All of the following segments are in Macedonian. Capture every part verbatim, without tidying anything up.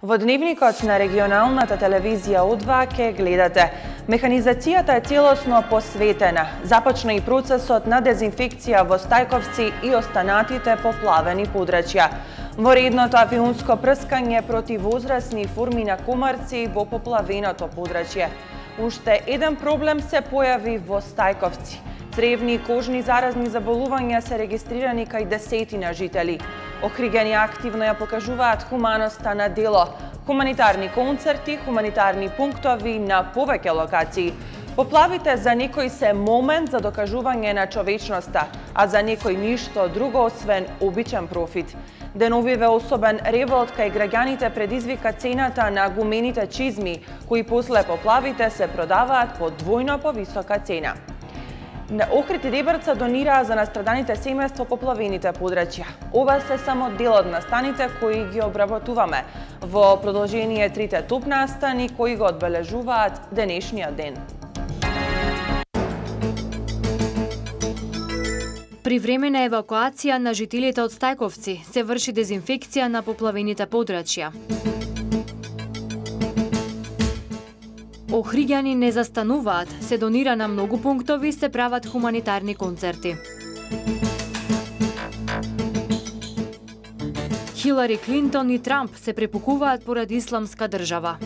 Во дневникот на регионалната телевизија У два ке гледате. Механизацијата е целосно посветена. Започна и процесот на дезинфекција во Стајковци и останатите поплавени подрачја. Во редното авионско прскање против возрасни форми на комарци во поплавеното подрачје. Уште еден проблем се појави во Стајковци. Цревни и кожни заразни заболувања се регистрирани кај десетина жители. Охригени активно ја покажуваат хуманоста на дело. Хуманитарни концерти, хуманитарни пунктови на повеќе локации. Поплавите за некој се момент за докажување на човечноста, а за некој ништо друго освен обичен профит. Деновиве особен револт кај граѓаните предизвика цената на гумените чизми, кои после поплавите се продаваат по двојно повисока цена. Охрид и Дебрца донираа за настраданите семејства поплавените подрачја. Ова се само дел од настаните кои ги обработуваме. Во продолжение трите топ настани кои го одбележуваат денешниот ден. При време на евакуација на жителите од Стајковци се врши дезинфекција на поплавените подрачја. Охриѓани не застануваат, се донира на многу пунктови, се прават хуманитарни концерти. Хилари Клинтон и Трамп се препукуваат поради исламска држава.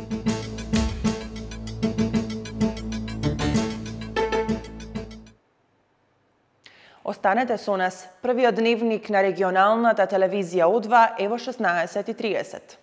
Останете со нас. Првиот дневник на регионалната телевизија У два е во шеснаесет и триесет.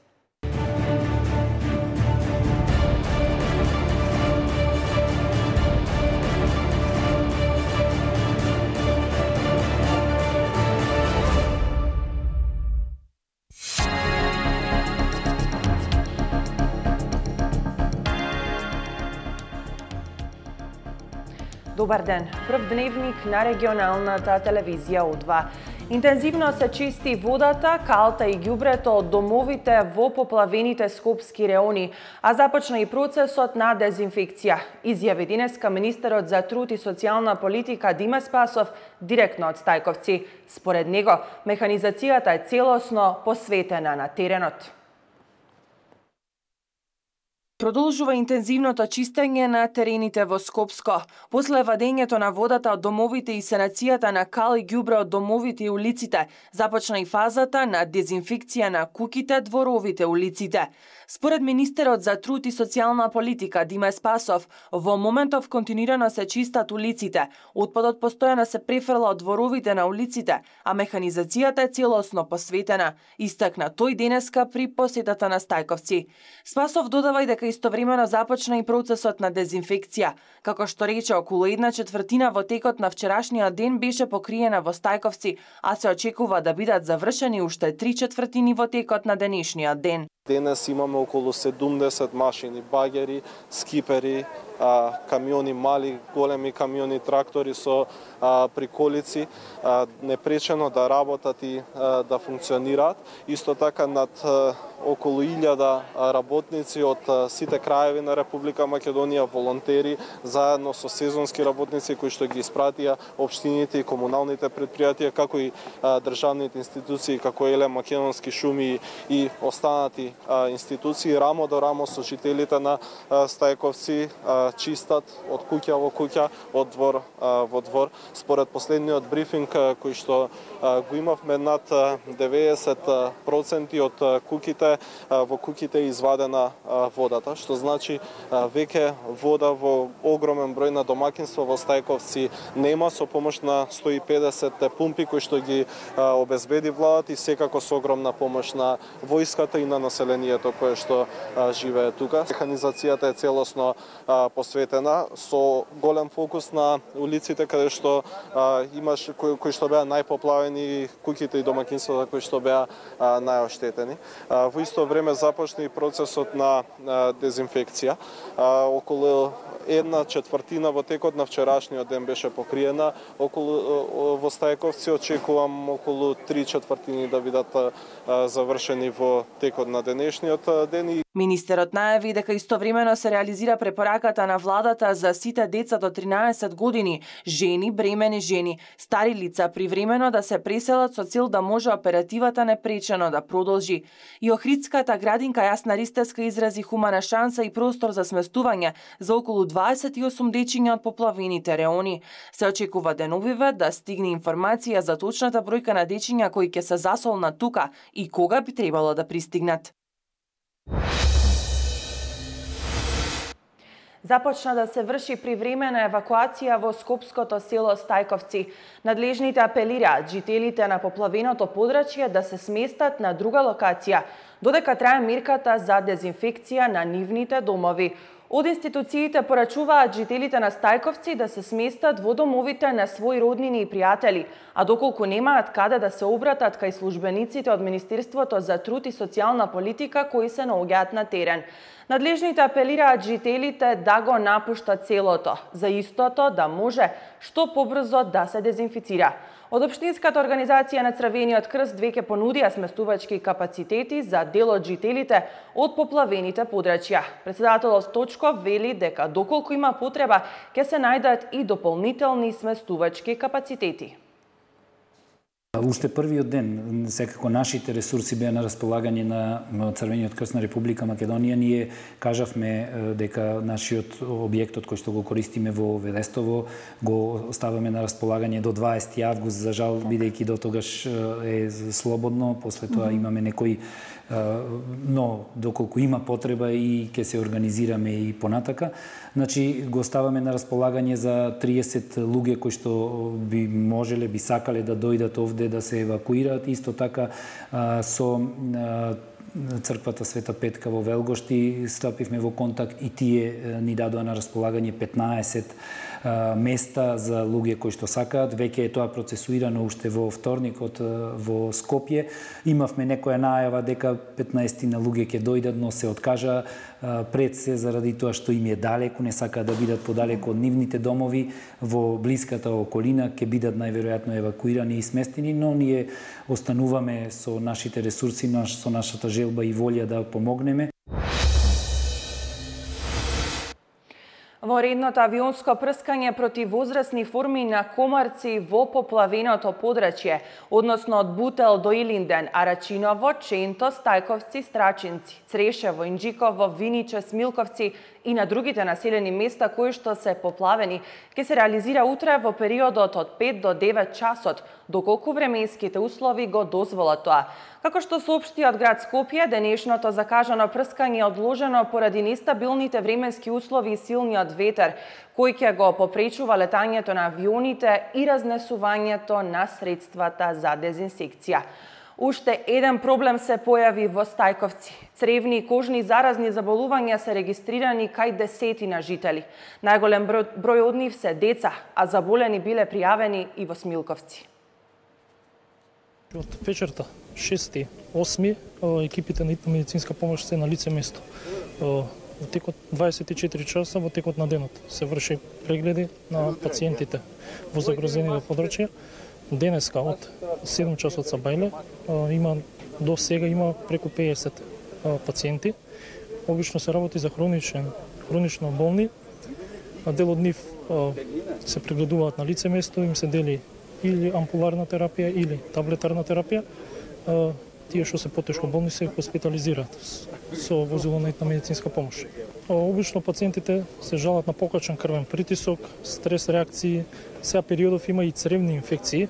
Добар ден. Прв дневник на регионалната телевизија У два. Интензивно се чисти водата, калта и ѓубрето од домовите во поплавените скопски реони, а започна и процесот на дезинфекција. Изјави денеска министерот за труд и социјална политика Диме Спасов директно од Стајковци. Според него, механизацијата е целосно посветена на теренот. Продолжува интензивното чистење на терените во Скопско. После вадењето на водата од домовите и санацијата на кал и ѓубре од домовите и улиците, започна и фазата на дезинфекција на куќите, дворовите, улиците. Според министерот за труд и социјална политика Диме Спасов, во моментов континуирано се чистат улиците, отпадот постојано се префрла од дворовите на улиците, а механизацијата е целосно посветена, истакна тој денеска при посетата на Стајковци. Спасов додава и дека истовремено започна и процесот на дезинфекција. Како што рече, околу една четвртина во текот на вчерашниот ден беше покриена во Стајковци, а се очекува да бидат завршени уште три четвртини во текот на денешниот ден. Денес имаме околу седумдесет машини, багери, скипери, камиони, мали, големи камиони, трактори со приколици, непречено да работат и да функционираат. Исто така над околу илјада работници од сите краеви на Република Македонија, волонтери, заедно со сезонски работници кои што ги испратија општините и комуналните предпријатија, како и државните институции, како Елем, Македонски шуми и останати институции, рамо до рамо со жителите на Стајковци чистат од куќа во куќа, од двор во двор. Според последниот брифинг кој што го имавме, над деветдесет проценти од куќите, во куќите е извадена водата, што значи веќе вода во огромен број на домакинства во Стајковци нема, со помош на сто и педесет пумпи кои што ги обезбеди владата и секако со огромна помош на војската и на населението кое што живее тука. Механизацијата е целосно посветена со голем фокус на улиците каде што имаш кои, кои што беа најпоплавени, куќите и домакинствата кои што беа најоштетени. Во исто време започна и процесот на дезинфекција. Околу една четвртина во текот на вчерашниот ден беше покриена околу во Стајковци. Очекувам околу три четвртини да бидат завршени во текот на денешниот ден. Министерот најави дека истовремено се реализира препораката на владата за сите деца до тринаесет години, жени, бремени жени, стари лица привремено да се преселат со цел да може оперативата непречено да продолжи. И Охридската градинка Јасна Ристевска изрази хумана шанса и простор за сместување за околу дваесет и осум дечиња од поплавените реони. Се очекува деновиве да стигне информација за точната бројка на дечиња кои ќе се засолнат тука и кога би требало да пристигнат. Започна да се врши привремена евакуација во скопското село Стајковци. Надлежните апелираат жителите на поплавеното подрачје да се сместат на друга локација, додека трае мерката за дезинфекција на нивните домови. Од институциите порачуваат жителите на Стајковци да се сместат во домовите на своји роднини и пријатели, а доколку немаат каде да се обратат кај службениците од Министерството за труд и социјална политика кои се наоѓаат на терен. Надлежните апелираат жителите да го напуштат селото, за истото да може што побрзо да се дезинфицира. Од Општинската организација на Црвениот крст веќе понудија сместувачки капацитети за дел од жителите од поплавените подрачја. Председателот Точков вели дека доколку има потреба, ќе се најдат и дополнителни сместувачки капацитети. Уште првиот ден, секако нашите ресурси беа на располагање на Црвениот крст на Република Македонија. Ние кажавме дека нашиот објектот кој што го користиме во Велестово го ставаме на располагање до дваесети август. За жал, бидејќи до тогаш е слободно, после тоа имаме некои, но доколку има потреба и ќе се организираме и понатака. Значи, го ставаме на располагање за триесет луѓе кои што би можеле, би сакале да дојдат овде да се евакуираат. Исто така со црквата Света Петка во Велгошти стапивме во контакт и тие ни дадоа на располагање петнаесет места за луѓе кои што сакаат. Веќе е тоа процесуирано уште во вторникот во Скопје. Имавме некоја најава дека петнаесет на луѓе ќе дојдат, но се откажа пред се заради тоа што им е далеку, не сакаат да бидат подалеку од нивните домови. Во блиската околина ќе бидат најверојатно евакуирани и сместени, но ние остануваме со нашите ресурси, со нашата желба и волја да помогнеме. Во редното авионско прскање против возрастни форми на комарци во поплавеното подрачје, односно од Бутел до Илинден, Арачиново, Ченто, Стајковци, Страчинци, Црешево, Инџиково, Виниче, Смилковци и на другите населени места кои што се поплавени, ќе се реализира утре во периодот од пет до девет часот, доколку временските услови го дозволат тоа. Како што соопшти од град Скопје, денешното закажано прскање е одложено поради нестабилните временски услови и силниот ветер, кој ќе го попречува летањето на авионите и разнесувањето на средствата за дезинсекција. Уште еден проблем се појави во Стајковци. Цревни и кожни заразни заболувања се регистрирани кај десетина жители. Најголем број, број од нив се деца, а заболени биле пријавени и во Смилковци. Од вечерта, шести, осми, екипите на итна медицинска помош се на лице место. Во текот дваесет и четири часа, во текот на денот, се врши прегледи на пациентите во загрозените подрачја. Денеска од седум часот са бајле, има до сега има преку педесет пациенти. Обично се работи за хроничен, хронично болни. Дел од нив се прегледуваат на лице место, им се дели или ампуларна терапија или таблетарна терапија. Тие што се потешко болни се хоспитализираат со возило на итна медицинска помош. Обично пациентите се жалат на покачен крвен притисок, стрес реакции, сега периодов има и цревни инфекции.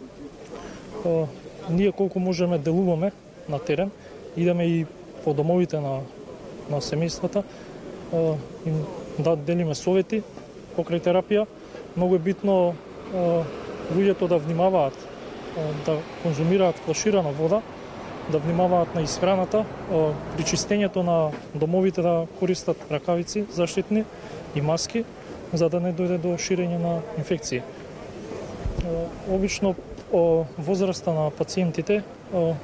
Ние колку можеме делуваме на терен, идеме и по домовите на, на семејствата, им да делиме совети покрај терапија. Многу е битно луѓето да внимаваат, да конзумираат флаширана вода, да внимаваат на исхраната, при чистењето на домовите да користат ракавици заштитни и маски, за да не дојде до ширење на инфекции. Обично возраста на пациентите,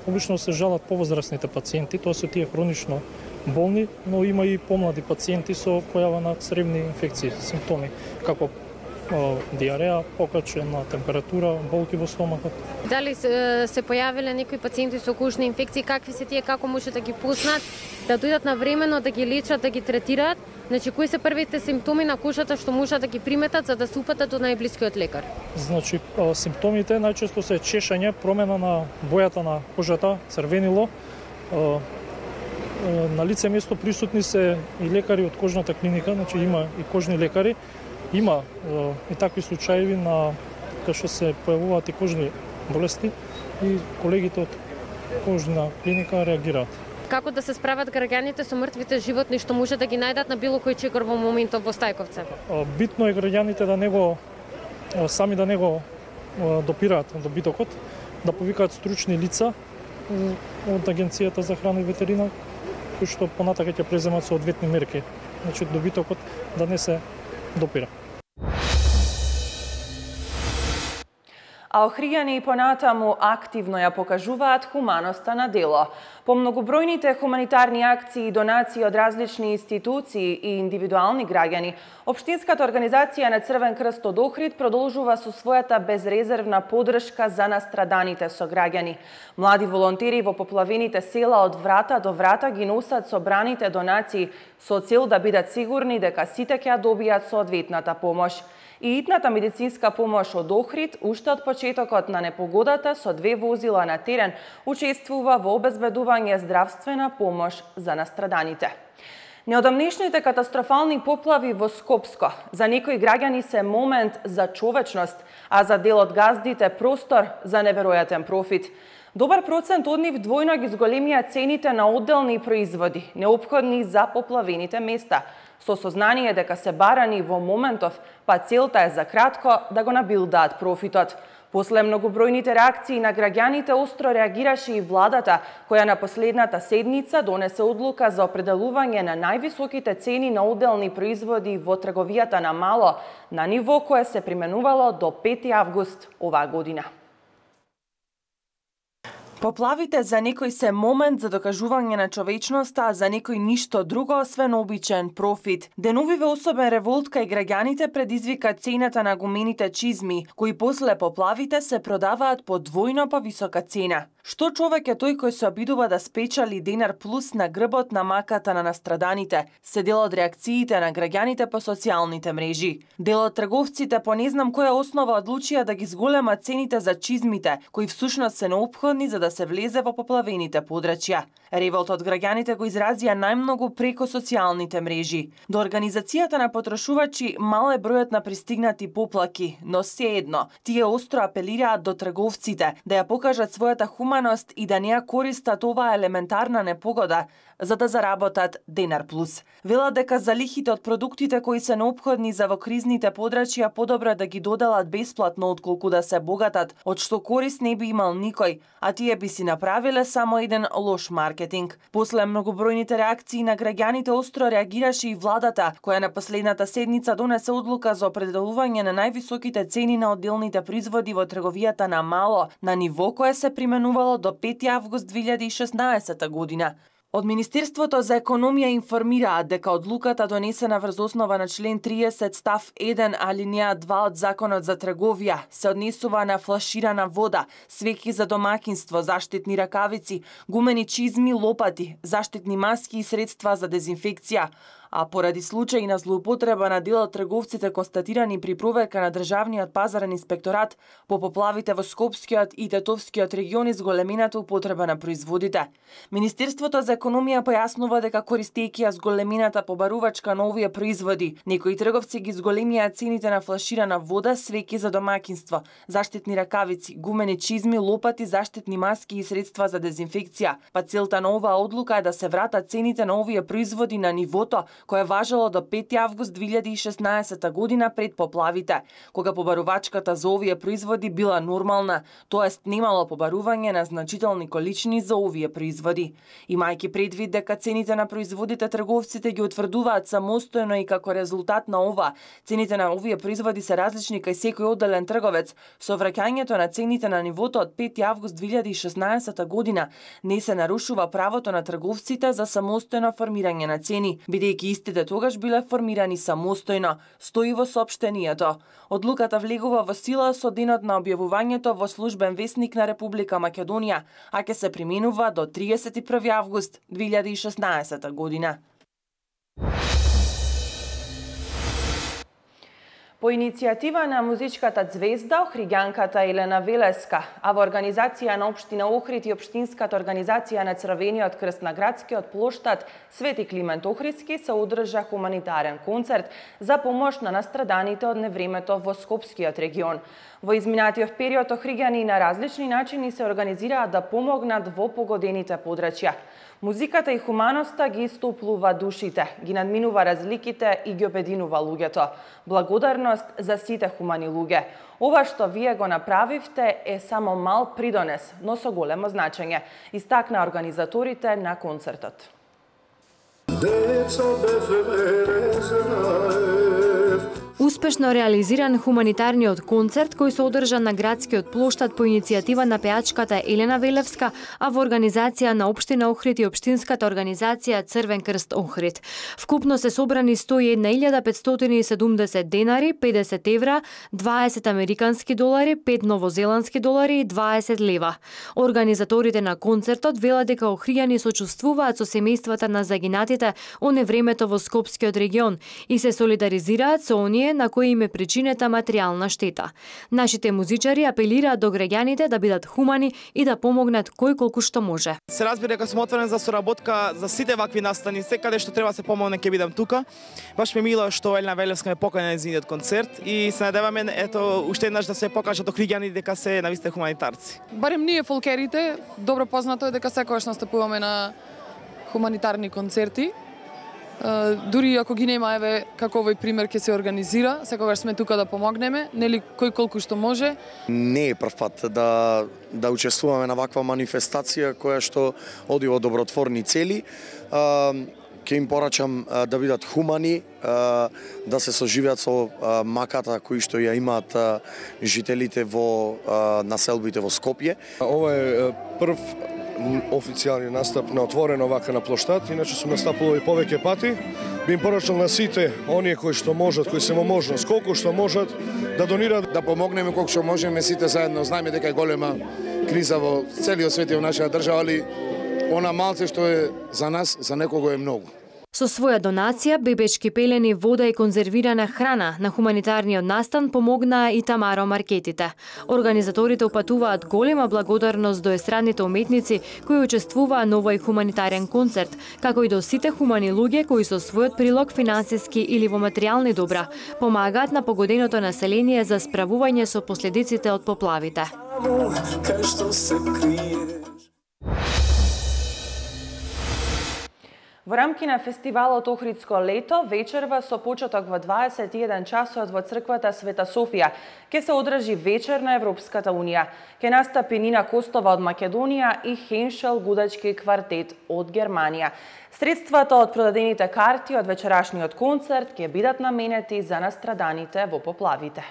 обично се жалат повозрастните пациенти, тоа се тие хронично болни, но има и помлади пациенти со појава на цревни инфекции, симптоми, како диареја, покачена температура, болки во стомакот. Дали се, се појавиле некои пациенти со кожни инфекции, какви се тие, како може да ги познат, да дојдат навремено, да ги лечат, да ги третираат? Значи, кои се првите симптоми на кожата што можат да ги приметат за да се упатат до најблискиот лекар? Значи, симптомите најчесто се чешање, промена на бојата на кожата, црвенило. На лице место присутни се и лекари од кожната клиника, значи има и кожни лекари. Има и такви случаи на кај што се појавуваат и кожни болести и колегите од кожна клиника реагираат. Како да се справат граѓаните со мртвите животни што може да ги најдат на било кој чекор во моментов во Стајковце? Битно е граѓаните да не го сами да не го допираат добитокот, да повикаат стручни лица од Агенцијата за храна и ветерина, кои што понатака ќе преземат соодветни мерки. Значи добитокот да не се допира. А охријани и понатаму активно ја покажуваат хуманоста на дело. По многобројните хуманитарни акции и донации од различни институции и индивидуални граѓани, Општинската организација на Црвен крст од Охрид продолжува со својата безрезервна поддршка за настраданите сограѓани. Млади волонтери во поплавените села од врата до врата ги носат собраните донации со цел да бидат сигурни дека сите ќе добијат соодветната помош. И итната медицинска помош од Охрид, уште од почетокот на непогодата со две возила на терен, учествува во обезбедување здравствена помош за настраданите. Неодамнешните катастрофални поплави во Скопско за некои граѓани се момент за човечност, а за дел од газдите простор за неверојатен профит. Добар процент од нив двојно ги зголемија цените на одделни производи, неопходни за поплавените места, со сознание дека се барани во моментов, па целта е за кратко да го набилдаат профитот. После многобројните реакции на граѓаните, остро реагираше и владата, која на последната седница донесе одлука за определување на највисоките цени на одделни производи во трговијата на мало, на ниво кое се применувало до пети август оваа година. Поплавите за некој се момент за докажување на човечноста, а за некој ништо друго освен обичен профит. Деновиве особен револт кај граѓаните предизвика цената на гумените чизми, кои после поплавите се продаваат по двојно повисока цена. Што човек е тој кој се обидува да спечали денар плюс на грбот на маката на настраданите, се дел од реакциите на граѓаните по социјалните мрежи. Дел од трговците по не знам која основа одлучија да ги зголемат цените за чизмите, кои всушност се неопходни за да се влезе во поплавените подрачја. Револт од граѓаните го изразија најмногу преко социјалните мрежи. До организацијата на потрошувачи мал е бројот на пристигнати поплаки, но сеедно, тие остро апелираат до трговците да ја покажат својата хуманост и да не ја користат оваа елементарна непогода за да заработат денар плюс. Велат дека залихите од продуктите кои се неопходни за во кризните подрачја подобро да ги доделат бесплатно отколку да се богатат, од што корист не би имал никој, а тие би си направиле само еден лош маркетинг. После многобројните реакции на граѓаните остро реагираше и владата, која на последната седница донесе одлука за определување на највисоките цени на одделните производи во трговијата на мало, на ниво кое се применувало до пети август две илјади и шеснаесета година. Од Министерството за економија информираат дека одлуката донесена врз основа на член триесет став еден алинеја два од Законот за трговија се однесува на флаширана вода, свеќи за домаќинство, заштитни ракавици, гумени чизми, лопати, заштитни маски и средства за дезинфекција. А поради случаи на злоупотреба на дел од трговците констатирани при проверка на Државниот пазарен инспекторат по поплавите во Скопскиот и Тетовскиот региони зголемената употреба на производите. Министерството за економија појаснува дека користејќи ја зголемената побарувачка на овие производи, некои трговци ги зголемија цените на флаширана вода, свеќи за домаќинство, заштитни ракавици, гумени чизми, лопати, заштитни маски и средства за дезинфекција. Па целта на оваа одлука е да се вратат цените на овие производи на нивото кое важело до пети август две илјади и шеснаесета година пред поплавите, кога побарувачката за овие производи била нормална, тоест немало побарување на значителни количини за овие производи. Имајќи предвид дека цените на производите трговците ги утврдуваат самостојно и како резултат на ова, цените на овие производи се различни кај секој одделен трговец, со враќањето на цените на нивото од пети август две илјади и шеснаесета година не се нарушува правото на трговците за самостојно формирање на цени, бидејќи истите тогаш биле формирани самостојно, стои во соопштението. Одлуката влегува во сила со денот на објавувањето во Службен весник на Република Македонија, а ќе се применува до триесет и први август две илјади и шеснаесета година. По иницијатива на музичката звезда, охриѓанката Елена Велеска, а во организација на Општина Охрид и Општинската организација на Црвениот крст на градскиот плоштад Свети Климент Охридски се одржа хуманитарен концерт за помош на настраданите од невремето во Скопскиот регион. Во изминатиот период охриѓани на различни начини се организираат да помогнат во погодените подрачја. Музиката и хуманоста ги истоплува душите, ги надминува разликите и ги обединува луѓето. Благодарност за сите хумани луѓе. Ова што вие го направивте е само мал придонес, но со големо значење, истакна организаторите на концертот. Успешно реализиран хуманитарниот концерт кој се одржа на градскиот плоштад по иницијатива на пејачката Елена Велевска, а во организација на Општина Охрид и Општинската организација Црвен крст Охрид. Вкупно се собрани сто и една илјада петстотини и седумдесет денари, педесет евра, дваесет американски долари, пет новозеландски долари и дваесет лева. Организаторите на концертот велат дека охријани сочувствуваат со семејствата на загинатите од невремето во Скопскиот регион и се солидаризираат со оние на кои им е причинета материјална штета. Нашите музичари апелираат до граѓаните да бидат хумани и да помогнат кој колку што може. Се разбира дека сум отворен за соработка за сите вакви настани, секаде што треба се помогне ќе бидам тука. Баш ми мило што Елена Велевска ме покани на незиниот концерт и се надеваме ето уште еднаш да се покажат охриѓани дека се навистина хуманитарци. Барем ние фолкерите, добро познато е дека секогаш настапуваме на хуманитарни концерти. Дури ако ги нема, еве, како овој пример ќе се организира, секогаш сме тука да помогнеме, нели кој колку што може. Не е прв пат да да учествуваме на ваква манифестација која што оди во добротворни цели. Ќе им порачам да бидат хумани, да се соживеат со маката кои што ја имаат жителите во населбите во Скопје. Ова е прв официјални настап на отворено вака на плоштад, иначе сум настапувал и повеќе пати. Би им порачал на сите оние кои што можат, кои се во можност, колку што можат да донираат, да помогнеме колку што можеме сите заедно. Знаеме дека е голема криза во целиот свет и во нашата држава, али она малце што е за нас, за некого е многу. Со своја донација, бебечки пелени, вода и конзервирана храна на хуманитарниот настан помогнаа и Тамаро маркетите. Организаторите упатуваат голема благодарност до естрадните уметници кои учествуваа на овој хуманитарен концерт, како и до сите хумани луѓе кои со својот прилог финансиски или во материјални добра помагаат на погоденото население за справување со последиците од поплавите. Во рамки на фестивалот Охридско лето, вечерва со почеток во дваесет и еден часот во црквата Света Софија ќе се одржи вечер на Европската унија. Ќе настапи Нина Костова од Македонија и Хеншел гудачки квартет од Германија. Средствата од продадените карти од вечерашниот концерт ќе бидат наменети за настраданите во поплавите.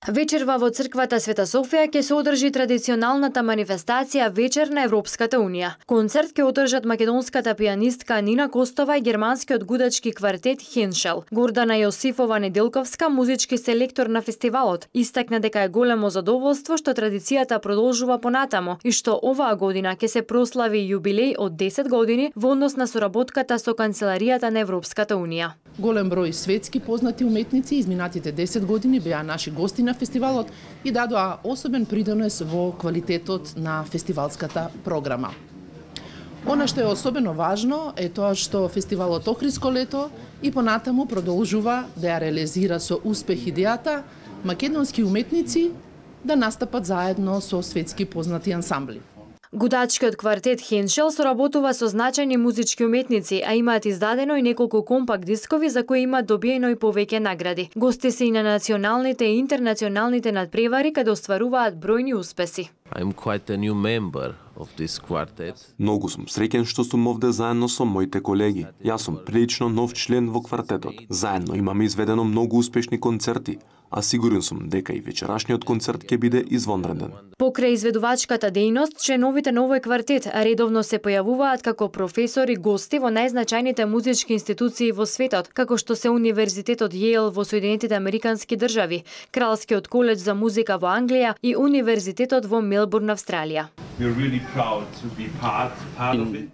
Вечерва во црквата Света Софија ќе се одржи традиционалната манифестација Вечер на Европската унија. Концерт ќе одржат македонската пијанистка Нина Костова и германскиот гудачки квартет Хеншел. Гордана Јосифова Неделковска, музички селектор на фестивалот, истакна дека е големо задоволство што традицијата продолжува понатамо и што оваа година ќе се прослави јубилеј од десет години во однос на соработката со Канцеларијата на Европската унија. Голем број светски познати уметници изминатите десет години беа наши гости на фестивалот и дадоа особен придонес во квалитетот на фестивалската програма. Она што е особено важно е тоа што фестивалот Охридско лето и понатаму продолжува да ја реализира со успех идејата македонски уметници да настапат заедно со светски познати ансамбли. Гудачкиот квартет Хеншел соработува со значајни музички уметници, а имаат издадено и неколку компакт дискови за кои имаат добиено и повеќе награди. Гости се и на националните и интернационалните надпревари каде остваруваат бројни успеси. I'm quite a new member of this quartet. Многу сум среќен што сум овде заедно со моите колеги. Јас сум прилично нов член во квартетот. Заедно имаме изведено многу успешни концерти, а сигурен сум дека и вечерашниот концерт ќе биде извонреден. Покрај изведувачката дејност, членовите на овој квартет редовно се појавуваат како професори гости во најзначајните музички институции во светот, како што се Универзитетот Јејл во Соединетите Американски држави, Кралскиот колеџ за музика во Англија и Универзитетот во Мелбурн, Австралија.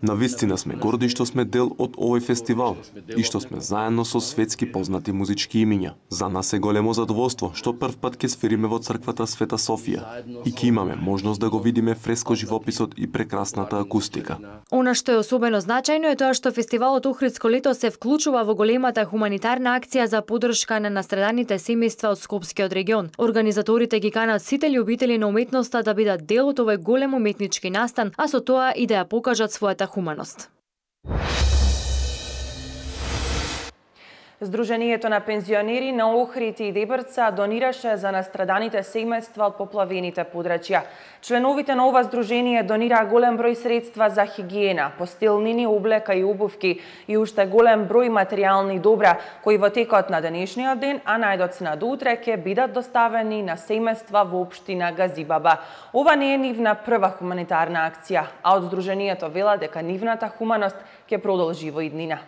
Навистина сме горди што сме дел од овој фестивал и што сме заедно со светски познати музички имиња. За нас е големо задоволство што прв пат ќе свириме во црквата Света Софија и ќе имаме можност да го видиме фреско живописот и прекрасната акустика. Она што е особено значајно е тоа што фестивалот Охридско лето се вклучува во големата хуманитарна акција за поддршка на настраданите семејства од Скопскиот регион. Организаторите ги канат сите љубители на уметноста да бидат дел од овој голем уметнички настан, а со тоа и да ја покажат својата хуманост. Сдруженијето на пензионери на Охрид и Дебрца донираше за настраданите семејства од поплавените подрачја. Членовите на ова сдружение донираа голем број средства за хигиена, постелнини, облека и обувки и уште голем број материјални добра, кои во текот на денешниот ден, а најдоцна на до утре, ќе бидат доставени на семејства во општина Газибаба. Ова не е нивна прва хуманитарна акција, а од сдруженијето вела дека нивната хуманост ќе продолжи во иднина.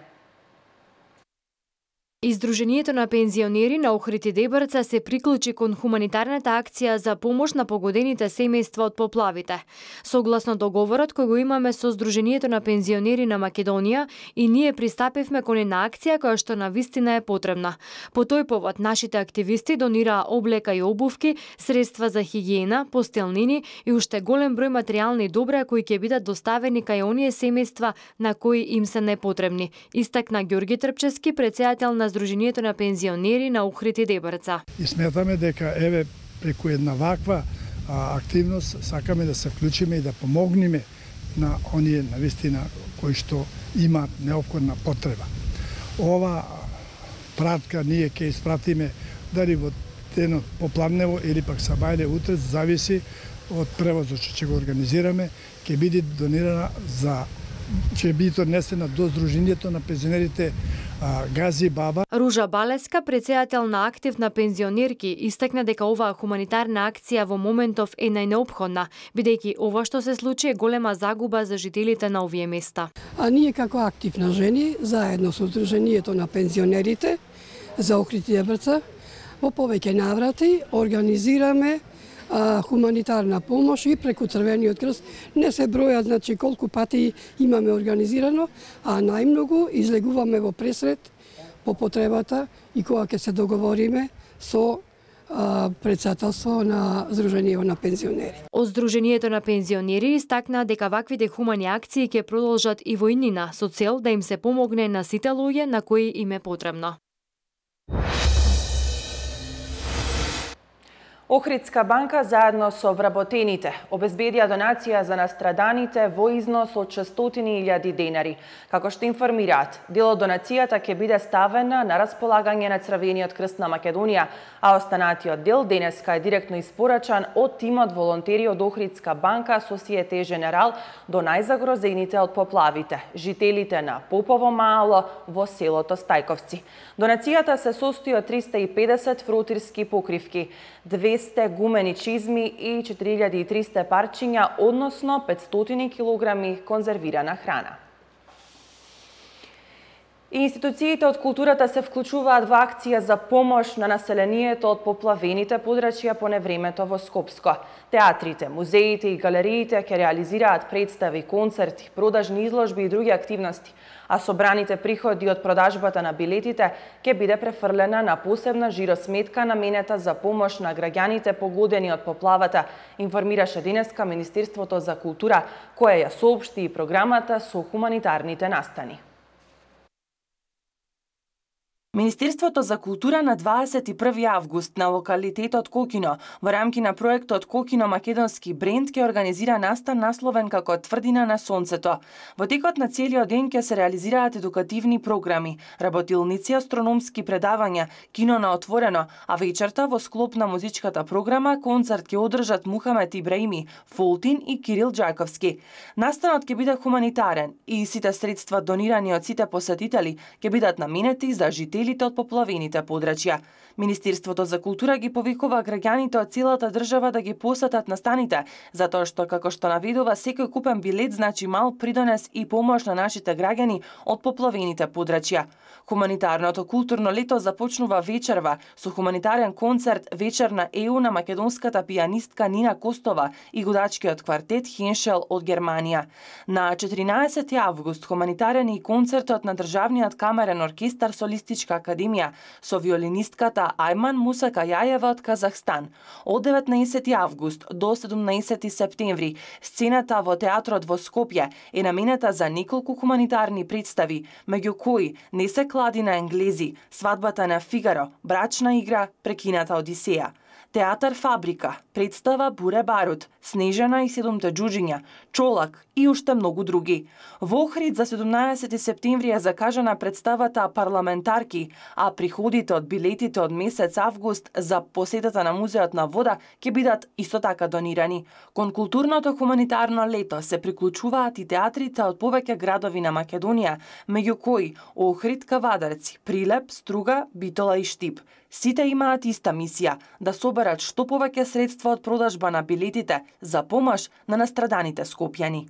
Издруженијето на пензионери на Охрид и Дебрца се приклучи кон хуманитарната акција за помош на погодените семејства од поплавите. Согласно договорот кој го имаме со Сдруженијето на пензионери на Македонија, и ние пристапивме кон една акција која што навистина е потребна. По тој повод нашите активисти донираа облека и обувки, средства за хигиена, постелнини и уште голем број материјални добра кои ќе бидат доставени кај оние семејства на кои им се непотребни, истакна Ѓорги Трпчевски, претседател на Сдруженијето на пензионери на Охрид и Дебрца. И сметаме дека еве преку една ваква а, активност сакаме да се вклучиме и да помогнеме на оние навистина кои што имаат неопходна потреба. Ова пратка ние ќе испратиме дали во денот поплавнево или пак сабајле утре, зависи од превозот што ќе го организираме, ќе биде донирана за ќе биде однесена до Сдруженијето на пензионерите Газибаба. Ружа Балеска, претседател на актив на пензионерки, истакна дека оваа хуманитарна акција во моментов е најнеопходна, бидејќи ова што се случи е голема загуба за жителите на овие места. А ние како актив на жени, заедно со Сдруженијето на пензионерите за Охрид и Дебрца, во повеќе наврати организираме а, хуманитарна помош и преку Црвениот крст. Не се бројат, значи колку пати имаме организирано, а најмногу излегуваме во пресред по потребата и кога ќе се договориме со председателство на Сдруженијето на пензионери. Од Сдруженијето на пензионери истакна дека ваквите хумани акции ќе продолжат и во иднина со цел да им се помогне на сите луѓе на кои им е потребно. Охридска банка заедно со вработените обезбедија донација за настраданите во износ од шестстотини илјади денари. Како што информираат, дел од донацијата ќе биде ставена на располагање на Црвениот крст на Македонија, а останатиот дел денеска е директно испорачан од тимот волонтери од Охридска банка Societe General до најзагрозените од поплавите, жителите на Попово маало во селото Стајковци. Донацијата се состои од триста и педесет фротирски покривки, двесте гумени чизми и четири илјади и триста парчиња, односно петстотини килограми конзервирана храна. И институциите од културата се вклучуваат во акција за помош на населението од поплавените подрачја по невремето во Скопско. Театрите, музеите и галериите ќе реализираат представи, концерти, продажни изложби и други активности, а собраните приходи од продажбата на билетите ќе биде префрлена на посебна жиросметка наменета за помош на граѓаните погодени од поплавата, информираше денеска Министерството за култура, кое ја соопшти и програмата со хуманитарните настани. Министерството за култура на дваесет и први август на локалитетот Кокино во рамки на проектот Кокино македонски бренд ќе организира настан насловен како Тврдина на сонцето. Во текот на целиот ден ќе се реализираат едукативни програми, работилници, астрономски предавања, кино на отворено, а вечерта во склоп на музичката програма концерт ќе одржат Мухамед Ибраими, Фолтин и Кирил Джаковски. Настанот ќе биде хуманитарен и сите средства донирани од сите посетители ќе бидат наменети за жителите од поплавените подрачја. Министерството за култура ги повикува граѓаните од целата држава да ги посетат настаните, затоа што, како што наведува, секој купен билет значи мал придонес и помош на нашите граѓани од поплавените подрачја. Хуманитарното културно лето започнува вечерва со хуманитарен концерт вечер на ЕУ на македонската пијанистка Нина Костова и годачкиот квартет Хеншел од Германија. На четиринаесети август хуманитарен и концертот на Државниот камерен оркестар Солистичка академија со виолинистката Ајман Мусака Јајева од Казахстан. Од деветнаесети август до седумнаесети септември сцената во театрот во Скопје е наменета за неколку хуманитарни представи, меѓу кои Не се клади на енглези, Свадбата на Фигаро, Брачна игра, Прекината Одисеја. Театар Фабрика, представа Буре Барут, Снежана и седумте џуџиња, Чолак и уште многу други. Во Охрид за седумнаесети септември е закажана представата Парламентарки, а приходите од билетите од месец август за посетата на Музеот на вода ќе бидат исто така донирани. Кон културното хуманитарно лето се приклучуваат и театрите од повеќе градови на Македонија, меѓу кои Охрид, Кавадарци, Прилеп, Струга, Битола и Штип. Сите имаат иста мисија – да соберат што повеќе средства од продажба на билетите за помош на настраданите скопјани.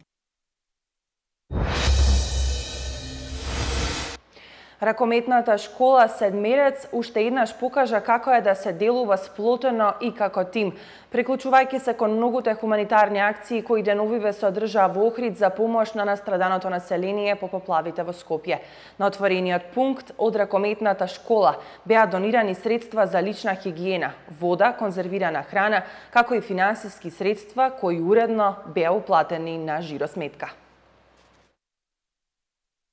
Ракометната школа Седмерец уште еднаш покажа како е да се делува сплотено и како тим, приклучувајќи се кон многуте хуманитарни акции кои деновиве се одржаа во Охрид за помош на настраданото население по поплавите во Скопје. На отворениот пункт од ракометната школа беа донирани средства за лична хигиена, вода, конзервирана храна, како и финансиски средства кои уредно беа уплатени на жиросметка.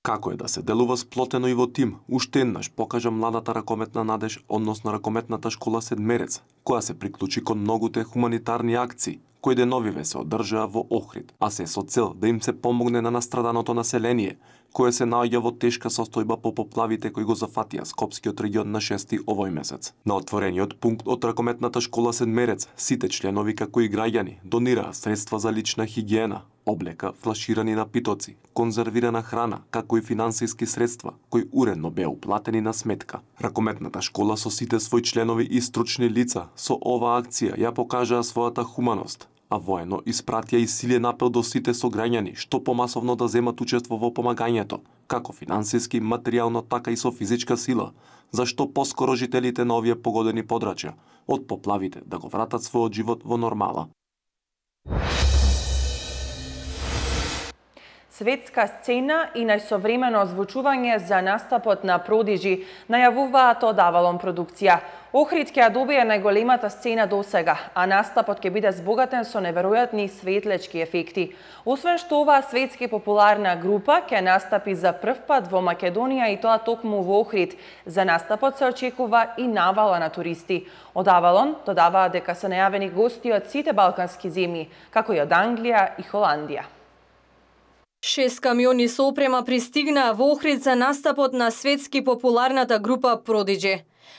Како е да се делува сплотено и во тим, уште еднаш покажа младата ракометна Надеж, односно ракометната школа Седмерец, која се приклучи кон многуте хуманитарни акции, кои деновиве се одржаа во Охрид, а се со цел да им се помогне на настраданото население, кое се наоѓа во тешка состојба по поплавите кои го зафатија Скопскиот регион на шести овој месец. На отворениот пункт од ракометната школа Седмерец, сите членови како и граѓани донираа средства за лична хигиена, облека, флаширани напитоци, конзервирана храна, како и финансиски средства, кои уредно беа уплатени на сметка. Ракометната школа со сите своји членови и стручни лица со оваа акција ја покажаа својата хуманост, а воено испратија и силен апел до сите сограѓани што помасовно да земат учество во помагањето, како финансиски, материјално, така и со физичка сила, зашто поскоро жителите на овие погодени подрачја од поплавите да го вратат својот живот во нормала. Светска сцена и најсовремено озвучување за настапот на Продижи најавуваат од Авалон продукција. Охрид ќе ја добие најголемата сцена досега, а настапот ќе биде збогатен со неверојатни светлечки ефекти. Освен што оваа светски популарна група ќе настапи за прв пат во Македонија и тоа токму во Охрид. За настапот се очекува и навала на туристи. Од Авалон додаваат дека се најавени гости од сите балкански земји, како и од Англија и Холандија. Шест камиони со опрема пристигнаа во Охрид за настапот на светски популарната група Продиджи.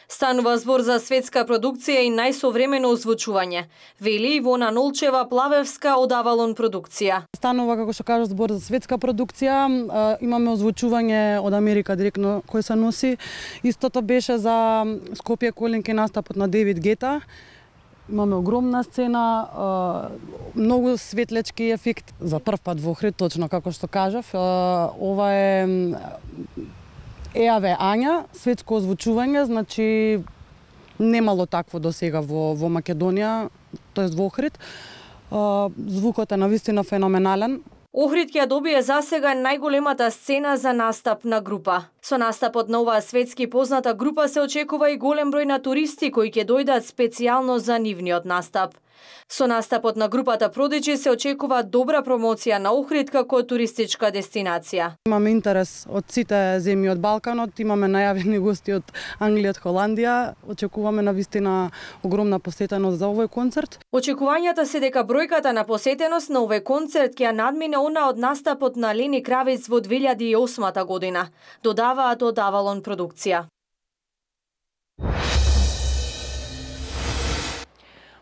Станува збор за светска продукција и најсовремено озвучување, вели Ивона Нолчева Плавевска од Авалон продукција. Станува, како што кажа, збор за светска продукција, имаме озвучување од Америка директно кој се носи. Истото беше за Скопје Колинки настапот на Девид Гета. Имаме огромна сцена, многу светлечки ефект за прв пат во Охрид, точно како што кажав. Ова е Еаве Ања, светско озвучување, значи немало такво до сега во, во Македонија, тоест во Охрид. Звукот е навистина феноменален. Охрид ќе добие засега најголемата сцена за настап на група. Со настапот на оваа светски позната група се очекува и голем број на туристи кои ќе дојдат специјално за нивниот настап. Со настапот на групата Продиджи се очекува добра промоција на Охрид како туристичка дестинација. Имаме интерес од сите земји од Балканот, имаме најавени гости од Англија, од Холандија, очекуваме навистина огромна посетеност за овој концерт. Очекувањата се дека бројката на посетеност на овој концерт ќе надмине она од настапот на Лени Кравец во две илјади и осма година, додаваат од Авалон продукција.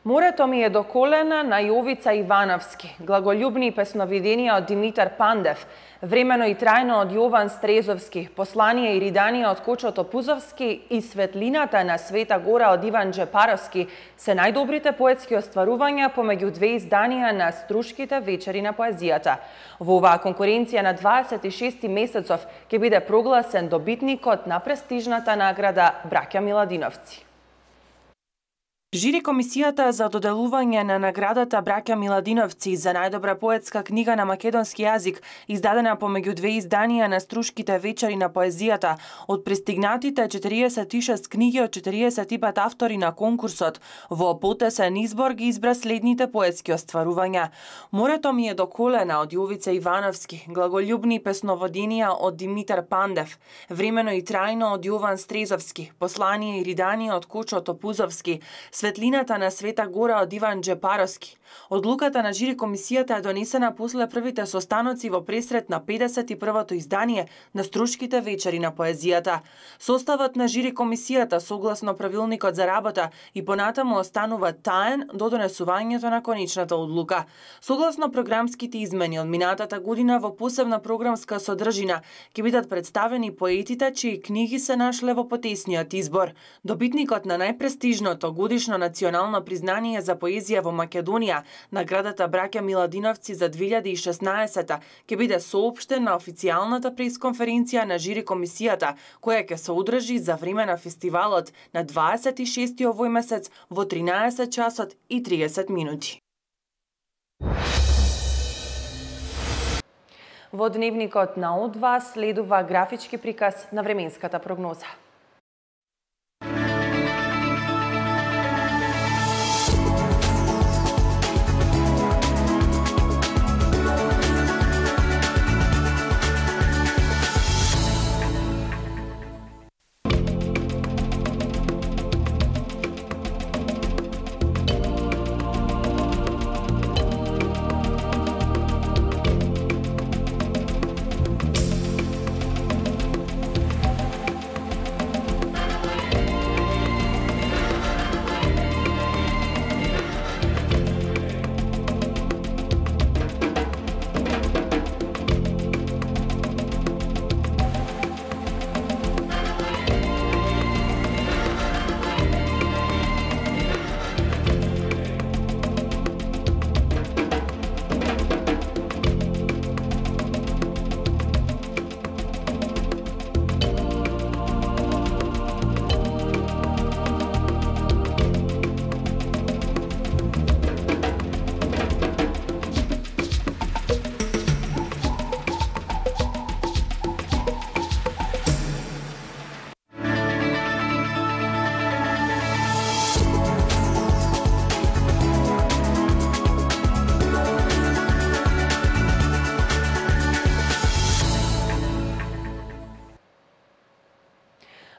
Морето ми е до колена на Јовица Ивановски, глаголюбни песновиденија од Димитар Пандев, времено и трајно од Јован Стрезовски, послание и риданија од Кочо Топузовски и светлината на Света Гора од Иван Джепаровски се најдобрите поетски остварувања помеѓу две изданија на Струшките вечери на поезијата. Во оваа конкуренција на дваесет и шести месецов ќе биде прогласен добитникот на престижната награда Браќа Миладиновци. Жири комисијата за доделување на наградата Браќа Миладиновци за најдобра поетска книга на македонски јазик, издадена помеѓу две изданија на Струшките вечери на поезијата, од пристигнатите четириесет и шест книги од четириесет и пет автори на конкурсот, во потесен избор ги избра следните поетски остварувања. Морето ми е до колена од Јовица Ивановски, глаголюбни песноводенија од Димитар Пандев, времено и трајно од Јован Стрезовски, послание и риданија од Кочо Топузовски, светлината на Света Гора од Иван Джепаровски. Одлуката на жири комисијата е донесена после првите состаноци во пресрет на педесет и првото издание на Струшките вечери на поезијата. Составот на жири комисијата согласно правилникот за работа и понатаму останува таен до донесувањето на конечната одлука. Согласно програмските измени од минатата година во посебна програмска содржина ќе бидат представени поетите чии книги се нашле во потесниот избор. Добитникот на најпрестижното годишно национално признание за поезија во Македонија, наградата Браќа Миладиновци за две илјади и шеснаесета, ќе биде соопштен на официјалната пресконференција на жири комисијата, која ќе се одржи за време на фестивалот на дваесет и шести овој месец во тринаесет часот и триесет минути. Во дневникот на О два следува графички приказ на временската прогноза.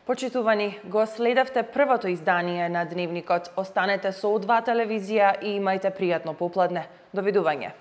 Почитувани, го следевте првото издание на Дневникот. Останете со О два телевизија и имајте пријатно попладне. Довидување.